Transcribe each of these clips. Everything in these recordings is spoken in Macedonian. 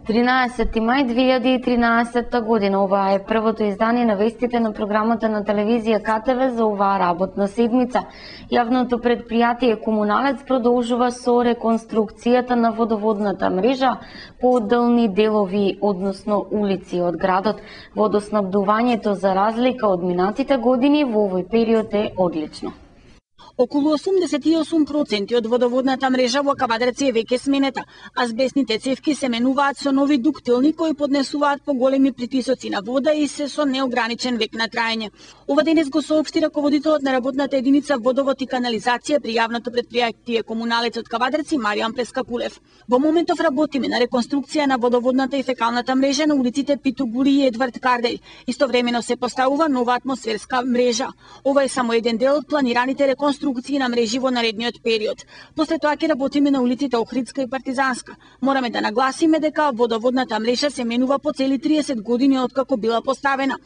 13 мај 2013 година. Ова е првото издание на вестите на програмата на телевизија КТВ за оваа работна седмица. Јавното предпријатие Комуналец продолжува со реконструкцијата на водоводната мрежа по одделни делови, односно улици од градот. Водоснабдувањето за разлика од минатите години во овој период е одлично. Околу 88% од водоводната мрежа во Кавадарци е веќе сменета, а азбестните цевки се менуваат со нови дуктилни кои поднесуваат поголеми притисоци на вода и се со неограничен век на траење. Ова денес го соопшти раководителот на работната единица Водовод и канализација при јавното предпријатие Комуналец од Кавадарци Маријан Прескакулев. Во моментов работиме на реконструкција на водоводната и фекалната мрежа на улиците Пито Гури и Едвард Карделј. Истовремено се поставува нова атмосферска мрежа. Ова е само еден дел од планираните реконструкции на мрежи во наредниот период. После тоа ќе работиме на улиците Охридска и Партизанска. Мораме да нагласиме дека водоводната мрежа се менува по цели 30 години откако била поставена.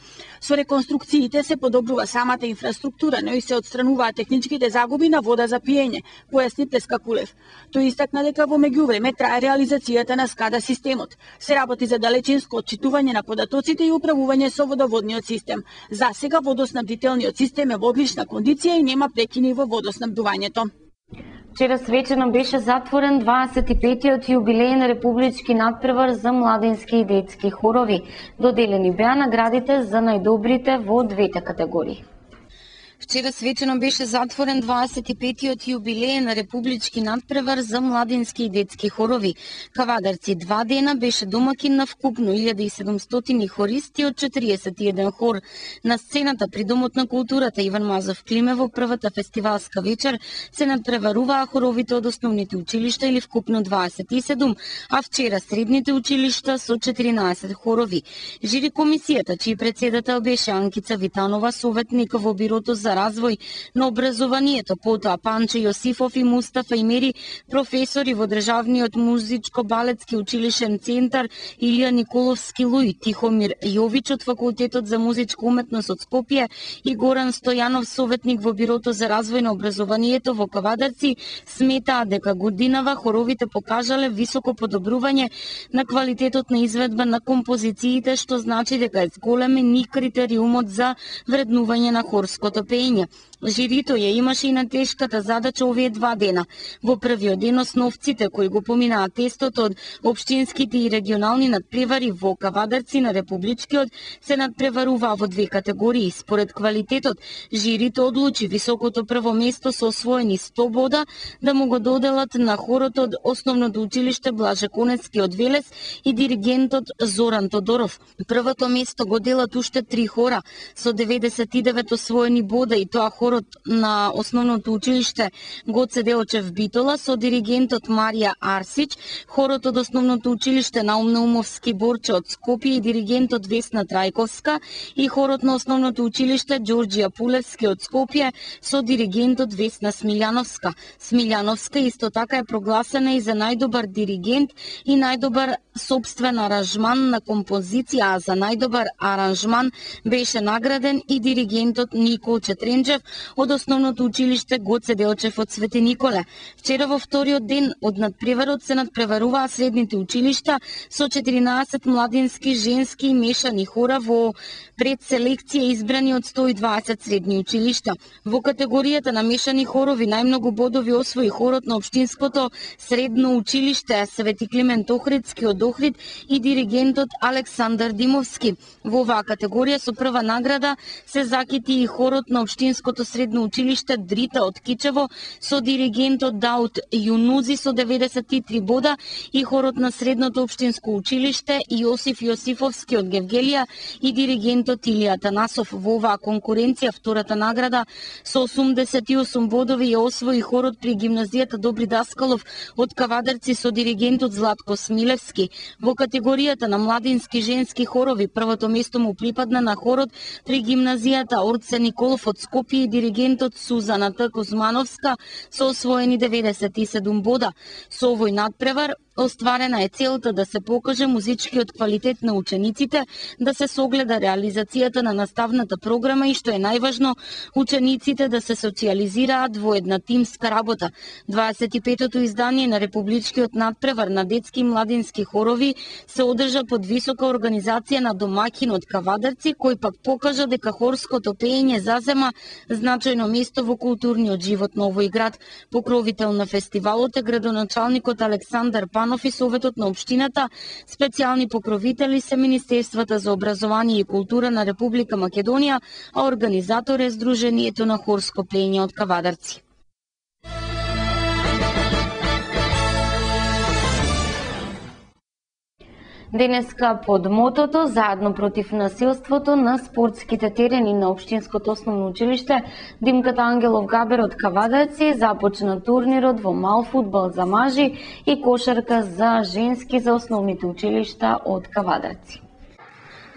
Со реконструкциите се подобрува самата инфраструктура, но и се отстрануваат техничките загуби на вода за пиење, појасни Прескакулев. Тој истакна дека во меѓувреме трае реализацијата на СКАДА системот. Се работи за далечинско отчитување на податоците и управување со водоводниот систем. За сега водоснабдителниот систем е во одлична кондиција и нема прекини во водоснабдувањето. Вчера свечено беше затворен 25-тиот јубилеен републички натпревар за младински и детски хорови. Доделени беа наградите за најдобрите во двете категории. Вчера свечено беше затворен 25-тиот јубилеен републички натпревар за младински и детски хорови. Кавадарци 2 дена беше домакин на вкупно 1700 хористи од 41 хор. На сцената при Домот на културата Иван Мазов Климе во првата фестивалска вечер се надпреваруваа хоровите од основните училишта или вкупно 27, а вчера средните училишта со 14 хорови. Жири комисијата, чиј председател беше Анкица Витанова, советник во бирото за развој на образованието, потоа Панче Јосифов и Мустафа Имери, професори во Државниот музичко-балетски училишен центар Илија Николовски Луј, Тихомир Јович од Факултетот за музичка уметност од Скопје и Горан Стојанов, советник во бирото за развој на образованието во Кавадарци, сметаа дека годинава хоровите покажале високо подобрување на квалитетот на изведба на композициите, што значи дека е зголемен и критериумот за вреднување на хорското пеење. Жирито ја имаше и на тешката задача овие 2 дена. Во првиот ден основците кои го поминаа тестот од општинските и регионални надпревари во Кавадарци на републичкиот се надпреваруваа во 2 категории. Според квалитетот, жирито одлучи високото прво место со освоени 100 бода да му го доделат на хорот од основното училиште Блаже Конецки од Велес и диригентот Зоран Тодоров. Првото место го делат уште 3 хора со 99 освоени бода, и тоа хорот на основното училиште Гоце Делчев Битола со диригентот Марија Арсич, хорот од основното училиште Наум Наумовски Борче од Скопје и диригентот Весна Трајковска и хорот на основното училиште Ѓорѓија Пулевски од Скопје со диригентот Весна Смилјановска. Смилјановска исто така е прогласена и за најдобар диригент и најдобар сопствен аранжман на композиција, а за најдобар аранжман беше награден и диригентот Никол Четренџев од основното училиште Гоце Делчев од Свети Николе. Вчера во вториот ден од надпреварот се надпреваруваа средните училишта со 14 младински, женски и мешани хора во предселекција избрани од 120 средни училишта. Во категоријата на мешани хорови најмногу бодови освои хорот на општинското средно училиште Свети Климент Охридски од Охрид и диригентот Александар Димовски. Во оваа категорија со прва награда се закити и хорот на општинското средно училиште Дрита од Кичево со диригентот Даут Јунузи со 93 бода и хорот на средното општинско училиште Јосиф Јосифовски од Гевгелија и диригентот Илија Танасов. Во оваа конкуренција втората награда со 88 бодови ја освои хорот при гимназијата Добри Даскалов од Кавадарци со диригентот Златко Смилевски. Во категоријата на младински женски хорови првото место му припадна на хорот при гимназијата Орце Николов од Скопје и диригентот Сузана Т. Кузмановска со освоени 97 бода. Со овој надпревар Остварена е целта да се покаже музичкиот квалитет на учениците, да се согледа реализацијата на наставната програма и што е најважно, учениците да се социјализираат во една тимска работа. 25-тото издание на Републичкиот надпревар на детски и младински хорови се одржа под висока организација на домакинот Кавадарци, кој пак покажа дека хорското пеење зазема значајно место во културниот живот на овој град. Покровител на фестивалот е градоначалникот Александар Панов и Советот на општината. Специјални покровители се Министерствата за образование и култура на Република Македонија, а организатор е Сдруженијето на хорско пеење од Кавадарци. Денеска под мотото "Заедно против насилството" на спортските терени на Општинското основно училиште Димката Ангелов Габер од Кавадарци започна турнирот во мал фудбал за мажи и кошарка за женски за основните училишта од Кавадарци.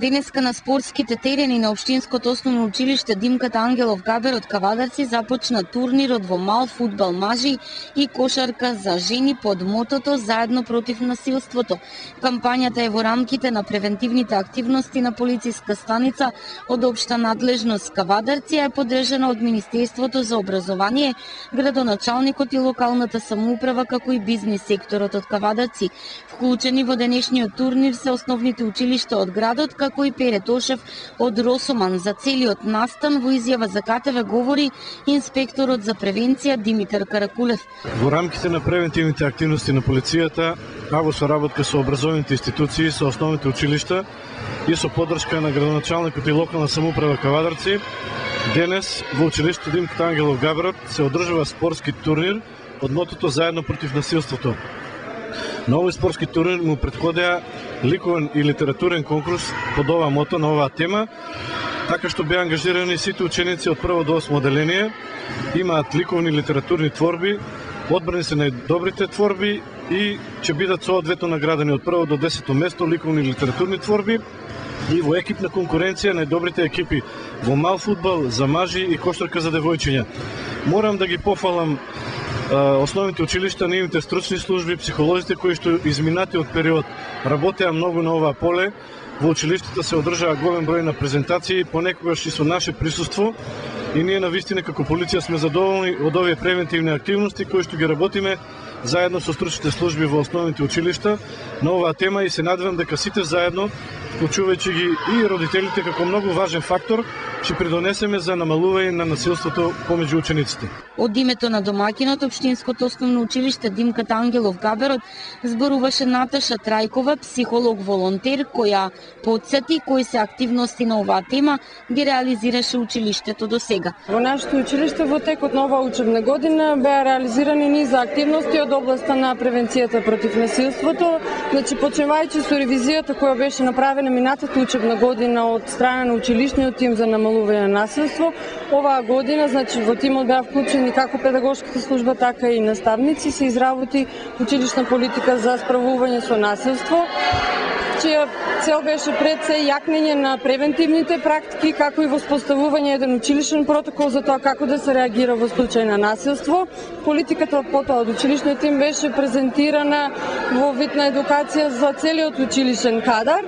Денеска на спортските терени на Општинското основно училиште Димката Ангелов Габер од Кавадарци започна турнирот во мал фудбал мажи и кошарка за жени под мотото "Заедно против насилството". Кампањата е во рамките на превентивните активности на полициска станица од општа надлежност Кавадарци, е подржана од Министерството за образование, градоначалникот и локалната самоуправа, како и бизнис секторот од Кавадарци. Вклучени во денешниот турнир се основните училишта од градот, како и Пере Тошев од Росоман. За целиот настан во изјава за КТВ говори инспекторот за превенција Димитар Каракулев. Во рамките на превентивните активности на полицијата, а во соработка со образовните институции, со основните училишта и со поддршка на градоначалникот и локална самоуправа Кавадарци, денес во училиштето Димката Ангелов Габер се одржува спортски турнир од мотото "Заедно против насилството". На овој спортски турнир му претходеа ликовен и литературен конкурс под ова мото на оваа тема, така што беа ангажирани сите ученици од прво до 8 оделение, имаат ликовни и литературни творби, одбрани се најдобрите творби и ќе бидат соодветно наградени од прво до 10 место ликовни и литературни творби, и во екипна конкуренција најдобрите екипи во мал фудбал за мажи и кошарка за девојчиња. Морам да ги пофалам основните училишта, нивните стручни служби, психолозите кои што изминатиот период работеа многу на оваа поле. Во училиштата се одржаа голем број на презентации, понекогаш и со наше присуство, и ние навистина како полиција сме задоволни од овие превентивни активности кои што ги работиме заедно со стручните служби во основните училишта на оваа тема, и се надевам дека сите заедно, вклучувајќи ги и родителите како многу важен фактор, ќе придонесеме за намалување на насилството помеѓу учениците. Од името на домакинот Општинското основно училиште Димката Ангелов Габер зборуваше Наташа Трајкова, психолог-волонтер, која потсети кои се активности на оваа тема ги реализираше училиштето до сега. Во нашето училиште во текот на оваа учебна година беа реализирани низ активности од областа на превенцијата против насилството. Значи, почнувајќи со ревизијата која беше направена минатата учебна година од страна на училишниот тим за намалување на насилство, оваа година, значи, во тимот беа вклучени како педагошката служба, така и наставници, се изработи училишна политика за справување со насилство, чија цел беше пред се јакнење на превентивните практики, како и воспоставување еден училишен протокол за тоа како да се реагира во случај на насилство. Политиката потоа од училишниот тим беше презентирана во вид на едукација за целиот училишен кадар.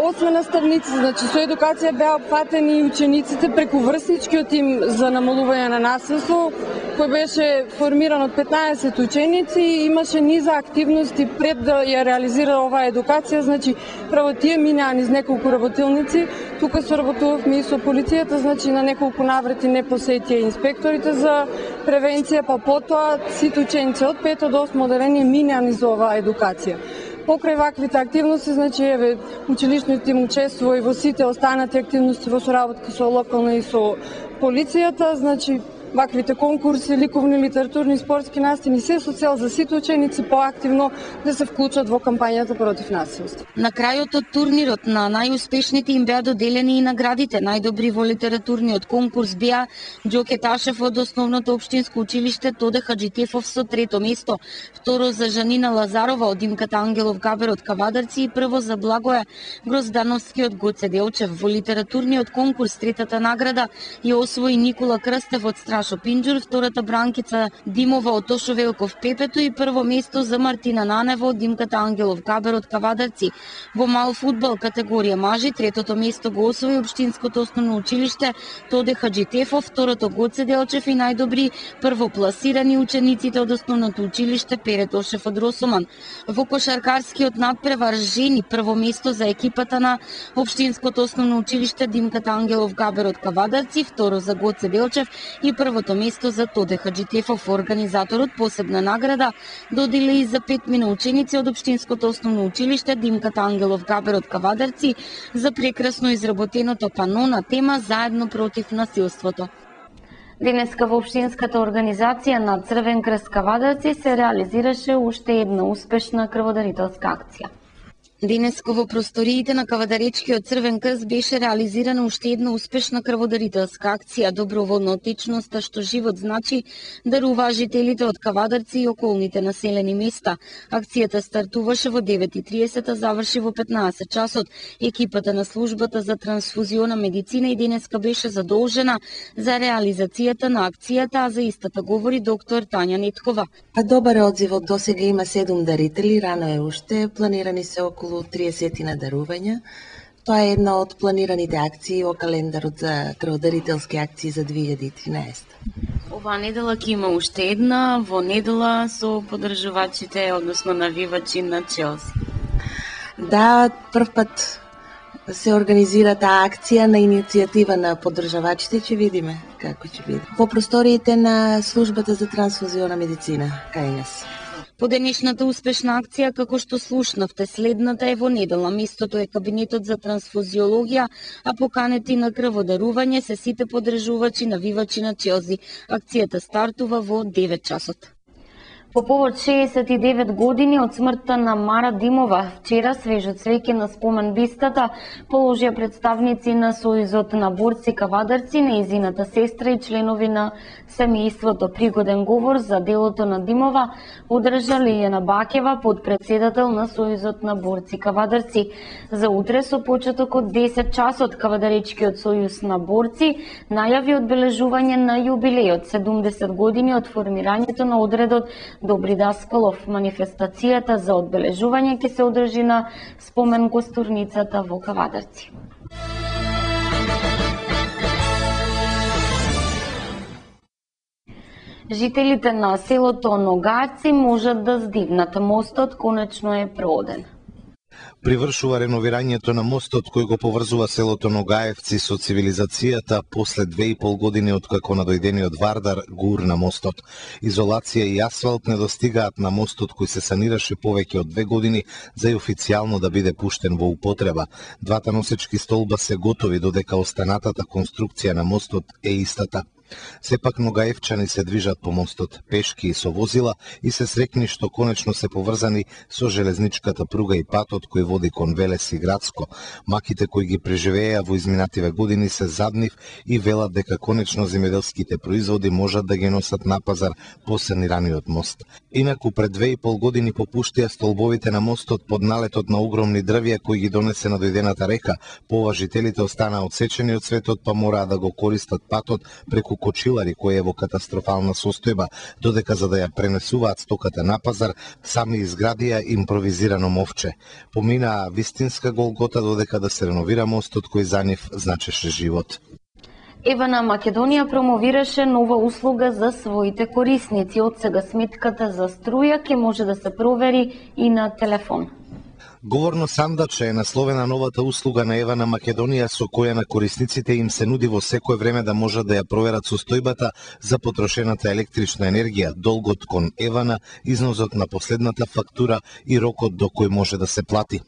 Освен наставници, значи со едукација беа опфатени и учениците преку врсничкиот тим за намалување на насилство, кој беше формиран од 15 ученици и имаше низа активности пред да ја реализира оваа едукација. Значи, право тие минаа низ неколку работилници. Тука соработувавме и со полицијата, значи на неколку наврати не посетија инспекторите за превенција, па потоа сите ученици од 5 до 8 оделение минаа низ оваа едукација. Покрај ваквите активности, значи, училишниот тим учествува и во сите останати активности во соработка со локална и со полицијата, значи, ваквите конкурси, ликовни, литературни, спортски настани, се со цел за сите ученици поактивно да се вклучат во кампањата против насилство. На крајот од турнирот на најуспешните им беа доделени и наградите. Најдобри во литературниот конкурс беа Ѓоке Ташев од основното општинско училиште Тоде Хаджитефов со 3-то место, второ за Жанина Лазарова од Димката Ангелов Габер од Кавадарци и прво за Благоја Гроздановски од Гоце Делчев. Во литературниот конкурс 3-тата награда ја освои Никола Крстев од Сашо Пинџур, втората Бранкица Димова од Тошо Велков Пепето и прво место за Мартина Нанева од Димката Ангелов Габер од Кавадарци. Во мал фудбал категорија мажи, третото место го освои Општинското основно училиште Тоде Хаджитефов, второто Гоце Делчев и најдобри првопласирани учениците од основното училиште Пере Тошев од Росоман. Во кошаркарскиот надпревар жени прво место за екипата на Општинското основно училиште Димката Ангелов Габер од Кавадарци, второ за Гоце Делчев и првото место за Тоде Хаджитефов. Организаторот посебна награда додели и за 5 ученици од Општинското основно училиште Димката Ангелов Габер од Кавадарци за прекрасно изработеното пано на тема Заедно против насилството. Денеска во Општинската организација на Црвен крст Кавадарци се реализираше уште една успешна крводарителска акција. Денеска во просториите на Кавадаречкиот Црвен крст беше реализирана уште една успешна крводарителска акција доброволна отечноста што живот значи, дарува жителите од Кавадарци и околните населени места. Акцијата стартуваше во 9:30, заврши во 15 часот. Екипата на службата за трансфузиона медицина и денеска беше задолжена за реализацијата на акцијата, а за истата говори доктор Тања Неткова. Добар е одзивот, досега има 7 дарители, рано е уште, планирани се околу 30 на дарувања. Тоа е една од планираните акции во календарот за крводарителски акции за 2013. Оваа недела ќе има уште една, во недела со поддржувачите, односно навивачи на Челси. Да, прв пат се организира таа акција на иницијатива на поддржавачите, ќе видиме како ќе биде. Во просториите на службата за трансфузиона медицина, кај нас. По денешната успешна акција, како што слушнавте, следната е во недела. Местото е кабинетот за трансфузиологија, а поканети на крводарување се сите поддржувачи навивачи на Челси. Акцијата стартува во 9 часот. По повод 69 години од смртта на Мара Димова, вчера свежо цвеќе на спомен бистата положија представници на Сојузот на борци Кавадарци, нејзината сестра и членови на семејството. Пригоден говор за делото на Димова одржа Лијана Бакева, подпредседател на Сојузот на борци Кавадарци. За утре со почеток од 10 часот Кавадаречкиот сојуз на борци најави одбележување на јубилеот 70 години од формирањето на одредот Добри Даскалов. Манифестацијата за одбележување ќе се одржи на спомен костурницата во Кавадарци. Жителите на селото Ногајци можат да здигнат. Мостот конечно е прооден. Привршува реновирањето на мостот кој го поврзува селото Ногаевци со цивилизацијата после 2,5 години откако надојдениот Вардар го урна мостот. Изолација и асфалт не достигаат на мостот кој се санираше повеќе од 2 години за и официјално да биде пуштен во употреба. Двата носечки столба се готови, додека останатата конструкција на мостот е истата. Сепак ногаевчани се движат по мостот, пешки и со возила и се срекни што конечно се поврзани со железничката пруга и патот кој води кон Велес и Градско. Маките кои ги преживеа во изминативе години се заднив и велат дека конечно земјоделските производи можат да ги носат на пазар по санираниот мост. Инаку пред 2,5 години попуштија столбовите на мостот под налетот на огромни дрвја кои ги донесе на дојдената река. Поважителите останаа одсечени од светот, па мораа да го користат патот преку кочилари кој е во катастрофална состојба, додека за да ја пренесуваат стоката на пазар, сами изградија импровизирано мовче. Поминаа вистинска голгота додека да се реновира мостот кој за нив значеше живот. Евана Македонија промовираше нова услуга за своите корисници. Од сега сметката за струја ќе може да се провери и на телефон. Говорно сандаче е насловена новата услуга на Евана Македонија со која на корисниците им се нуди во секое време да можат да ја проверат состојбата за потрошената електрична енергија, долгот кон Евана, износот на последната фактура и рокот до кој може да се плати.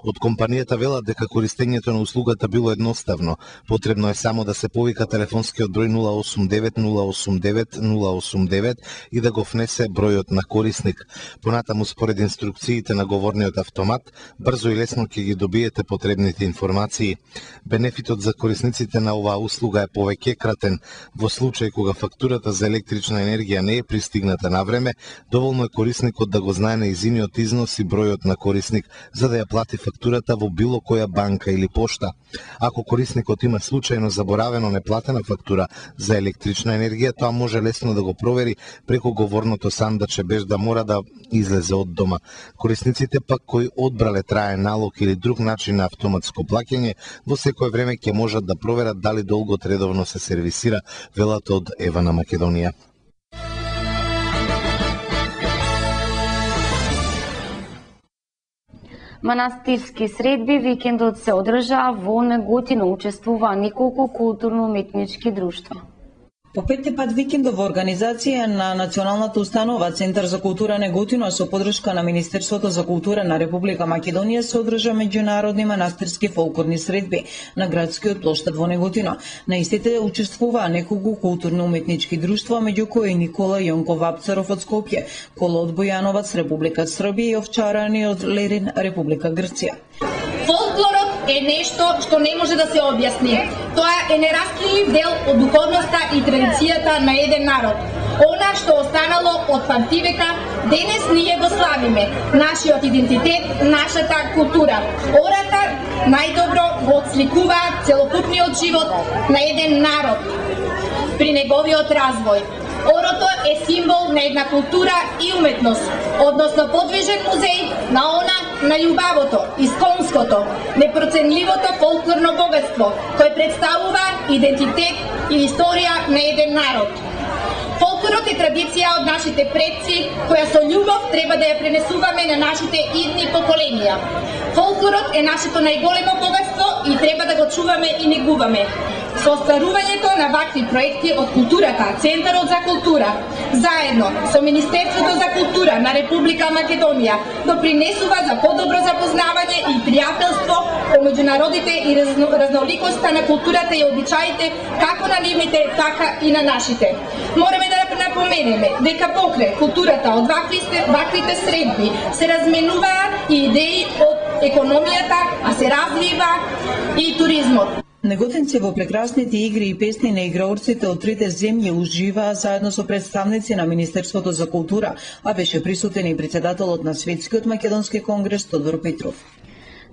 Од компанијата велат дека користењето на услугата било едноставно. Потребно е само да се повика телефонскиот број 089 089 089 и да го внесе бројот на корисник. Понатаму според инструкциите на говорниот автомат, брзо и лесно ќе ги добиете потребните информации. Бенефитот за корисниците на оваа услуга е повеќекратен. Во случај кога фактурата за електрична енергија не е пристигната на време, доволно е корисникот да го знае нејзиниот износ и бројот на корисник за да ја плати плати фактурата во било која банка или пошта. Ако корисникот има случајно заборавено неплатена фактура за електрична енергија, тоа може лесно да го провери преку говорното сандаче без да мора да излезе од дома. Корисниците пак кои одбрале траен налог или друг начин на автоматско плаќање, во секое време ќе можат да проверат дали долгот редовно се сервисира, велат од Ева на Македонија. Манастирски средби викендот се одржаа во Неготино, учествуваа неколку културно-уметнички друштва. По петти пат викендов во организација на Националната установа Центар за култура Неготино со подршка на Министерството за култура на Република Македонија се одржа меѓународни манастирски фолклорни средби на градскиот плоштад во Неготино. На истите учествуваа неколку културно-уметнички друштва, меѓу кои Никола Јонков Апцаров од Скопје, Коло од Бојановац, Република Србија и Овчарани од Лерин, Република Грција. Фолклорот е нешто што не може да се објасни. Тоа е нераскинлив дел од духовноста и традицијата на еден народ. Она што останало од памтивека, денес ние го славиме. Нашиот идентитет, нашата култура. Ората најдобро го отсликуваат целокупниот живот на еден народ при неговиот развој. Орото е символ на една култура и уметност, односно подвижен музеј на она на љубавото, исконското, непроценливото фолклорно богатство, кој представува идентитет и историја на еден народ. Фолклорот е традиција од нашите предци, која со љубов треба да ја пренесуваме на нашите идни поколенија. Фолклорот е нашето најголемо богатство и треба да го чуваме и негуваме. Со остварувањето на вакви проекти од културата, Центарот за култура, заедно со Министерството за култура на Република Македонија, допринесува за подобро запознавање и пријателство помеѓу народите и разноликоста на културата и обичаите, како на нивните, така и на нашите. Мораме да напоменеме дека покрај културата од ваквите средби се разменуваат и идеи од економијата, а се развива и туризмот. Неготинци во прекрасните игри и песни на играорците од трите земји уживаа заедно со представници на Министерството за култура, а беше присутен и председателот на Светскиот македонски конгрес Тодор Петров.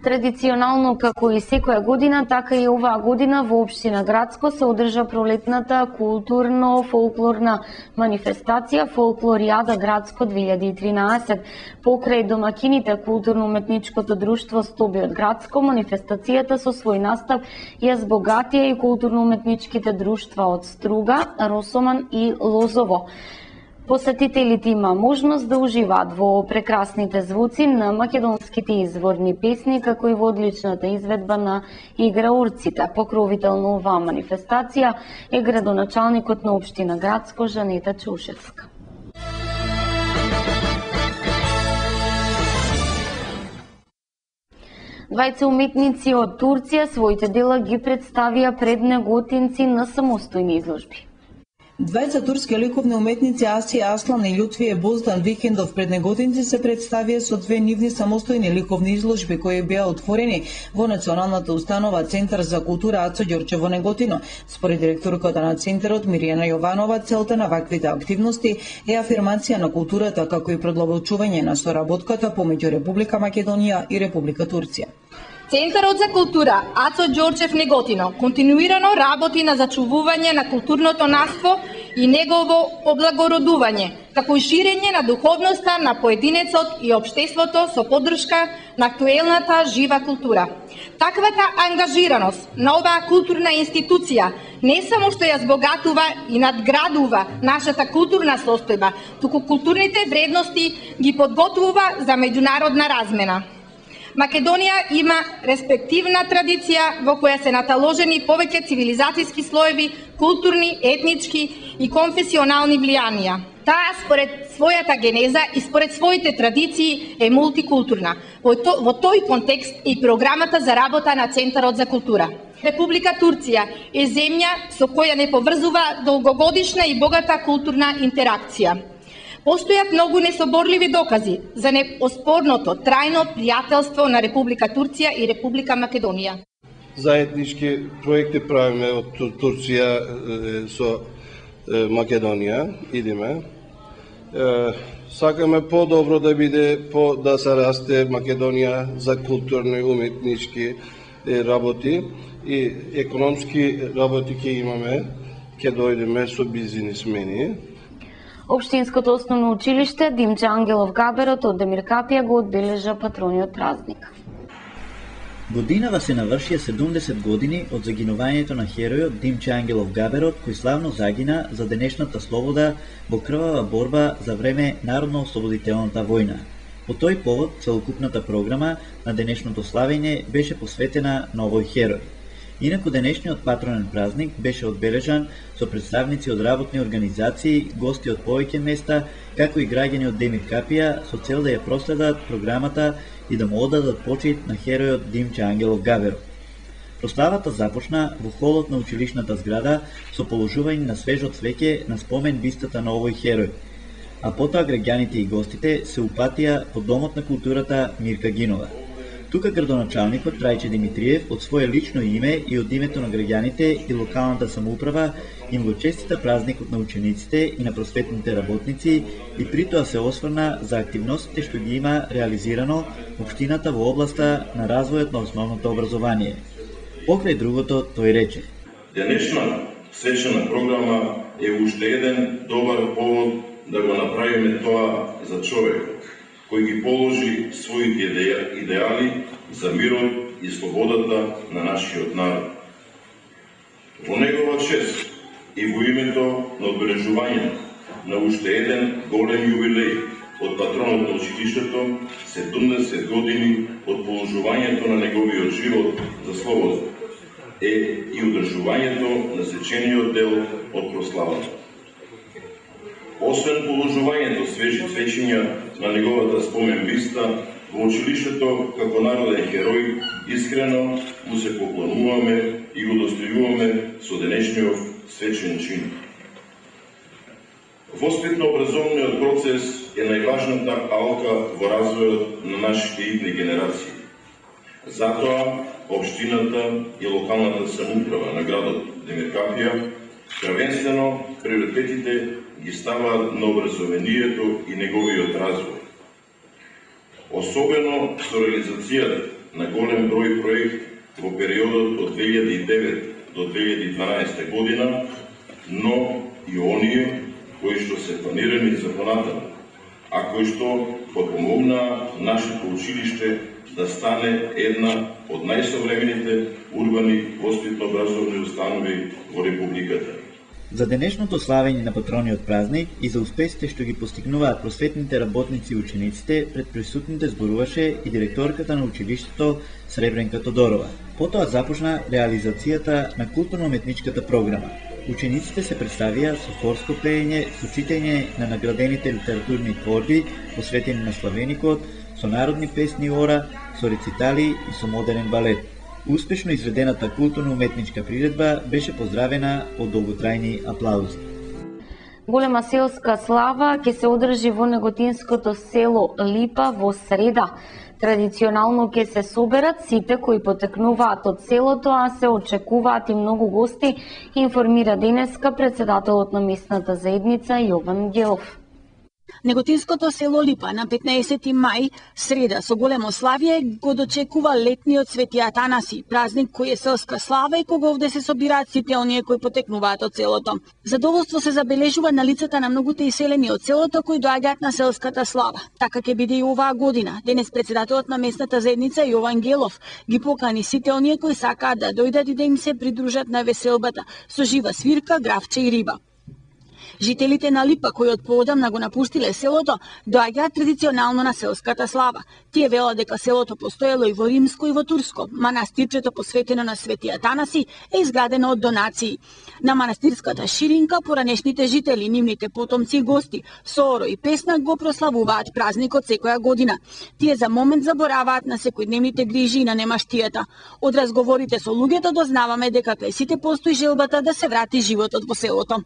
Традиционално, како и секоја година, така и оваа година во општина Градско се одржа пролетната културно-фолклорна манифестација Фолклоријада Градско 2013. Покрај домакините културно-уметничкото друштво Стоби од Градско, манифестацијата со свој настав ја збогатија и културно-уметничките друштва од Струга, Росоман и Лозово. Посетителите има можност да уживаат во прекрасните звуци на македонските изворни песни, како и во одличната изведба на играурците. Покровител на оваа манифестација е градоначалникот на општина Градско Жанета Чушевска. Двајца уметници од Турција своите дела ги представија пред неготинци на самостојни изложби. Двајца турски ликовни уметници Асија Аслан и Љутвие Боздан викендов пред неготинци се представија со две нивни самостојни ликовни изложби кои беа отворени во Националната установа Центар за култура Ацо Ѓорче во Неготино. Според директорката на центарот Мирјана Јованова, целта на ваквите активности е афирмација на културата како и продолбочување на соработката помеѓу Република Македонија и Република Турција. Центарот за култура Ацо Ѓорчев Неготино континуирано работи на зачувување на културното наследство и негово облагородување, како и ширење на духовноста на поединецот и општеството со поддршка на актуелната жива култура. Таквата ангажираност на оваа културна институција не само што ја збогатува и надградува нашата културна состојба, туку културните вредности ги подготвува за меѓународна размена. Македонија има респективна традиција во која се наталожени повеќе цивилизацијски слоеви, културни, етнички и конфесионални влијанија. Таа според својата генеза и според своите традиции е мултикултурна. Во тој контекст е и програмата за работа на Центарот за култура. Република Турција е земја со која не поврзува долгогодишна и богата културна интеракција. Постојат многу несоборливи докази за неоспорното трајно пријателство на Република Турција и Република Македонија. Заеднички проекти правиме од Турција со Македонија, идеме. Сакаме по-добро да биде, да се расте Македонија за културни и уметнички работи и економски работи ќе имаме, ќе дојдеме со бизнисмени. Општинското основно училиште Димче Ангелов Габерот од Демир Капија го одбележа патрониот празник. Годинава се навршија 70 години од загинувањето на херојот Димче Ангелов Габерот, кој славно загина за денешната слобода во крвава борба за време Народно-ослободителната војна. По тој повод, целокупната програма на денешното славење беше посветена на овој херој. Инаку денешниот патронен празник беше одбележан со представници од работни организации, гости од повеќе места, како и граѓани од Демир Капија, со цел да ја проследат програмата и да му одадат почит на херојот Димче Ангелов Габерот. Прославата започна во холот на училишната зграда со положување на свежо цвеќе на спомен бистата на овој херој, а потоа граѓаните и гостите се упатија по Домот на културата Мирка Гинова. Тука градоначалникот Трајче Димитриев од свое лично име и од името на граѓаните и локалната самоуправа им го честита празникот на учениците и на просветните работници и при тоа се осврна за активностите што ги има реализирано општината во областа на развојот на основното образование. Покрај другото, тој рече: Денешна свечена програма е уште еден добар повод да го направиме тоа за човекот кој ги положи своите идеали за мирот и слободата на нашиот народ. Во негова чест и во името на одбележување на уште еден голем јубилеј од патронот на училиштето, 70 години од положувањето на неговиот живот за слобода, е и одржувањето на сечениот дел од прославата. Освен положувањето свежи цвечиња на неговата спомен биста, во училиштето како народен херој искрено му се поклонуваме и го достојуваме со денешниот свечен чин. Воспитно-образовниот процес е најважната алка во развојот на нашите идни генерации. Затоа, општината и локалната самоуправа на градот Демир Капија првенствено приоритетите ги ставаат на образованието и неговиот развој. Особено со реализацијата на голем број проект во периодот од 2009 до 2012 година, но и оние кои што се планирани за понатаму, а кои што подпомогнаа нашето училиште да стане една од најсовремените урбани воспитно-образовни установи во Републиката. За денешното славење на патрониот празник и за успесите што ги постигнуваат просветните работници и учениците, пред присутните зборуваше и директорката на училиштето Сребренка Тодорова. Потоа започна реализацијата на културно-уметничката програма. Учениците се представија со хорско пеење, со читање на наградените литературни творби посветени на славеникот, со народни песни и ора, со рецитали и со модерен балет. Успешно изведената културно-уметничка приредба беше поздравена од долготрајни аплаузи. Голема селска слава ќе се одржи во неготинското село Липа во среда. Традиционално ќе се соберат сите кои потекнуваат од селото, а се очекуваат и многу гости, информира денеска председателот на местната заедница Јован Гелов. Неготинското село Липа на 15 мај, среда, со големо славие го дочекува летниот Свети Атанаси, празник кој е селска слава и кога овде се собираат сите оние кои потекнуваат од селото. Задоволство се забележува на лицата на многуте иселени од селото кои доаѓаат на селската слава. Така ќе биде и оваа година. Денес председателот на местната заедница Јован Гелов ги покани сите оние кои сакаат да дојдат и да им се придружат на веселбата со жива свирка, гравче и риба. Жителите на Липа, кои од поодамна го напуштиле селото, доаѓаат традиционално на селската слава. Тие велат дека селото постоело и во римско и во турско. Манастирчето посветено на Свети Атанаси е изградено од донации. На манастирската ширинка поранешните жители, нивните потомци и гости со оро и песна го прославуваат празникот секоја година. Тие за момент забораваат на секојдневните грижи и на немаштијата. Од разговорите со луѓето дознаваме дека кај сите постои желбата да се врати животот во селото.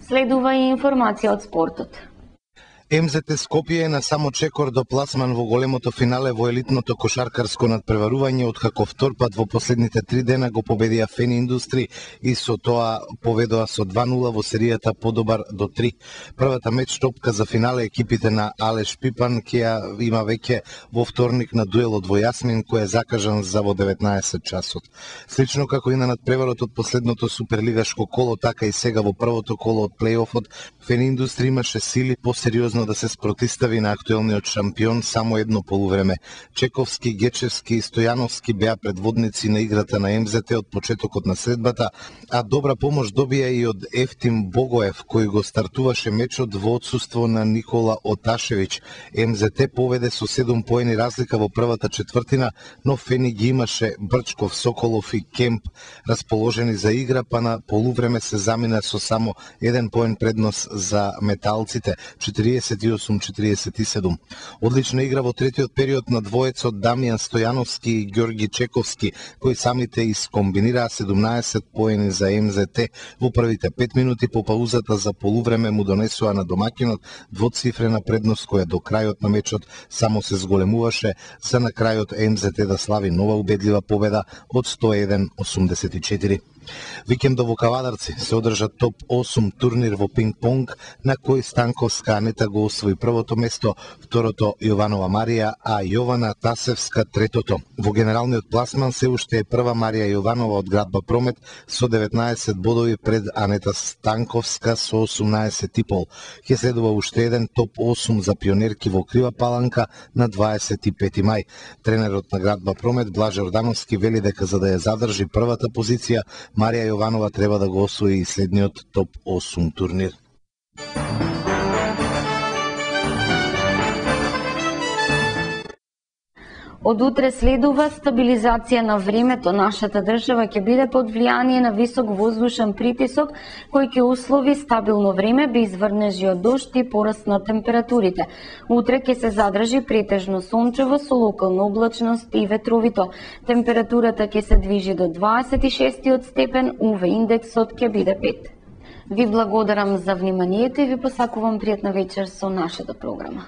Следува и информација од спортот. МЗТ Скопје е на само чекор до пласман во големото финале во елитното кошаркарско надпреварување, откако втор пат во последните 3 дена го победија Фени Индустри и со тоа поведоа со 2-0 во серијата подобар до 3. Првата меч топка за финале екипите на Алеш Пипан ќе ја има веќе во вторник на дуелот во Јасмин, кој е закажан за во 19 часот. Слично како и на надпреварот од последното суперлигашко коло, така и сега во првото коло од плейофот, Фени Индустри имаше сили посериозно да се спротистави на актуелниот шампион само едно полувреме. Чековски, Гечевски и Стојановски беа предводници на играта на МЗТ од почетокот на средбата, а добра помош добија и од Ефтим Богоев, кој го стартуваше мечот во отсуство на Никола Оташевиќ. МЗТ поведе со 7 поени разлика во првата четвртина, но Фени ги имаше Брчков, Соколов и Кемп расположени за игра, па на полувреме се замина со само 1 поен предност за металците, 48-47. Одлична игра во третиот период на двоецот Дамјан Стојановски и Ѓорги Чековски, кои самите искомбинираа 17 поени за МЗТ. Во првите 5 минути по паузата за полувреме му донесоа на домаќинот двоцифрена предност, која до крајот на мечот само се зголемуваше, за на крајот МЗТ да слави нова убедлива победа од 101-84. Викендов во Кавадарци се одржа топ 8 турнир во пинг-понг, на кој Станковска Анета го освои првото место, второто Јованова Марија, а Јована Тасевска третото. Во генералниот пласман се уште е прва Марија Јованова од Градба Промет со 19 бодови пред Анета Станковска со 18,5. Ќе следува уште еден топ 8 за пионерки во Крива Паланка на 25 мај. Тренерот на Градба Промет Блаже Ордановски вели дека за да ја задржи првата позиција, Марија Јованова треба да го освои и следниот топ 8 турнир. Од утре следува стабилизација на времето. Нашата држава ќе биде под влијание на висок воздушен притисок, кој ќе услови стабилно време без врнежи од дожд и пораст на температурите. Утре ќе се задржи претежно сончево со локална облачност и ветровито. Температурата ќе се движи до 26 степен, УВ индексот ќе биде 5. Ви благодарам за вниманието и ви посакувам пријатна вечер со нашата програма.